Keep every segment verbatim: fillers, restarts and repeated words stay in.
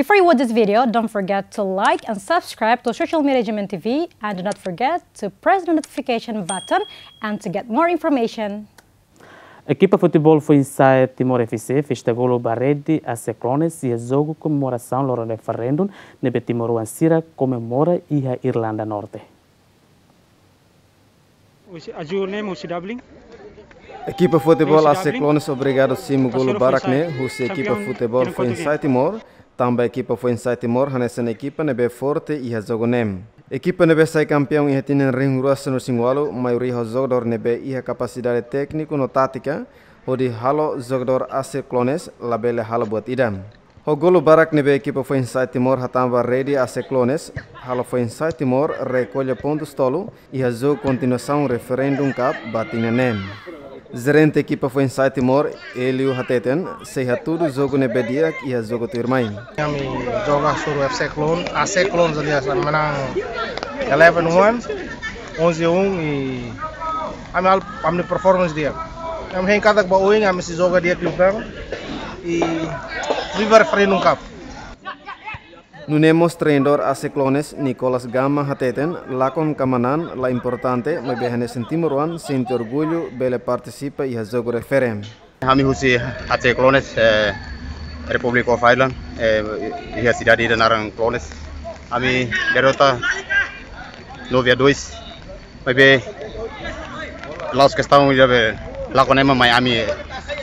Before you watch this video, don't forget to like and subscribe to social media G M N T V, and do not forget to press the notification button and to get more information. Ekipa futeból Foinsa'e Timor F C festa golu ba rede AC Clones iha jogu komemorasaun loron referendu ne'ebé timoroan sira komemora iha Irlanda Norte. Husi, aju ne'e husi Dublin. Ekipa futeból husi AC Dublin. Clones obrigadu simu golu barak ne'e husi ekipa futeból Foinsa'e Timor, tanba ekipa Foinsa'e Timor hanesan ekipa ne'ebé forte iha jogu ne'e. Ekipa ne'ebé sai kampeaun iha tinan rihun rua sanulu-resin-walu, maioria ho jogadór ne'ebé iha kapasidade tékniku no tátika, hodi halo jogadór AC Clones labele halo buat ida. Ho golu barak ne'ebé ekipa Foinsa'e Timor hatán ba rede AC Clones, halo Foinsa'e Timor rekolla pontus tolu iha jogu kontinuasaun Referendum Cup ba tinan ne'e. Jerente ekipa Foinsa'e Timor, Elio hateten, sei hatudu jogu ne'ebé di'ak iha jogu tuirmai. Ami joga suru F C Clone, AC Clone jadi asal menang eleven one, onze a um i ami halo, ami performance di'ak. Ami hein katak ba oin ami sei joga di'ak liután i viva Referendum Cup. Nune'e mós treinadór AC Clones, Nicolas Gama hateten, lakon kamanan la importante, maibé hanesan timoroan sente orgullu bele partisipa iha jogu refere. Ami husi AC Clones, eh, Republic of Ireland, eh, iha sidade ida naran Clones. Ami derrota nove a dois. Maibé la'ós kestaun ida be lakon ema, mai ami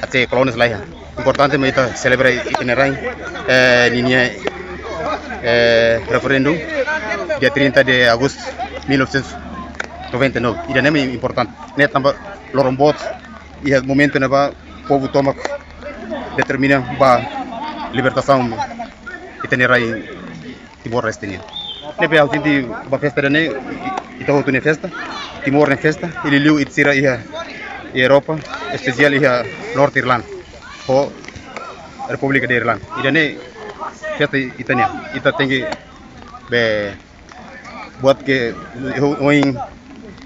AC Clones la iha. Importante mak ita selebra ita-nia rain, eh, ninia, eh, referendum dia trinta de agosto mil novecentos e noventa e nove. Ida-ne'e mak importante. Ne'e tanba loron boot iha momentu ne'ebá povu tomak determina ba libertasaun ita-nia rain Timor-Leste nian. Ne'ebé ha'u sente ba festa ida-ne'e, ita hotu nia festa, Timor nia festa, i liuliu ita sira iha, iha Europa, espesiál iha Norte Irlanda, ho Repúblika de Irlanda. Ida-ne'e festa ita-nian, ita tenke be buat ke ohin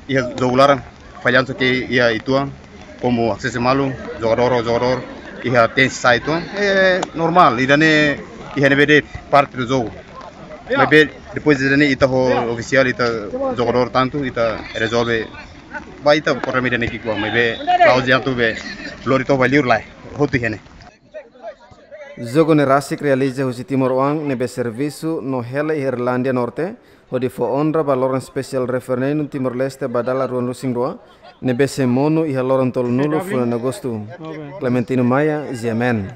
iha jogu laran, fallansu ke iha uitoan, komu asesu malu, jogadór, jogadór, iha tensa uitoan, eh, normál, ida-ne'e iha ne'ebé de'it parte do jogu. Maibé depois ida-ne'e ita ho ofisiál, ita jogadór tantu, ita rezolve, ba ita problema ida-ne'e ki'ikoan, maibé la'ós atu be lori to'o ba liur lae, hotu iha ne'e. Jogu ne'e rasik realiza husi timoroan ne'ebé servisu no hela iha Irlandia Norte, hodi fó onra ba loron espesiál referendum Timor-Leste ba dala ruanulu-resin-rua, ne'ebé sei monu iha loron tolunulu fulan Agostu. Clementino Maia, G M N.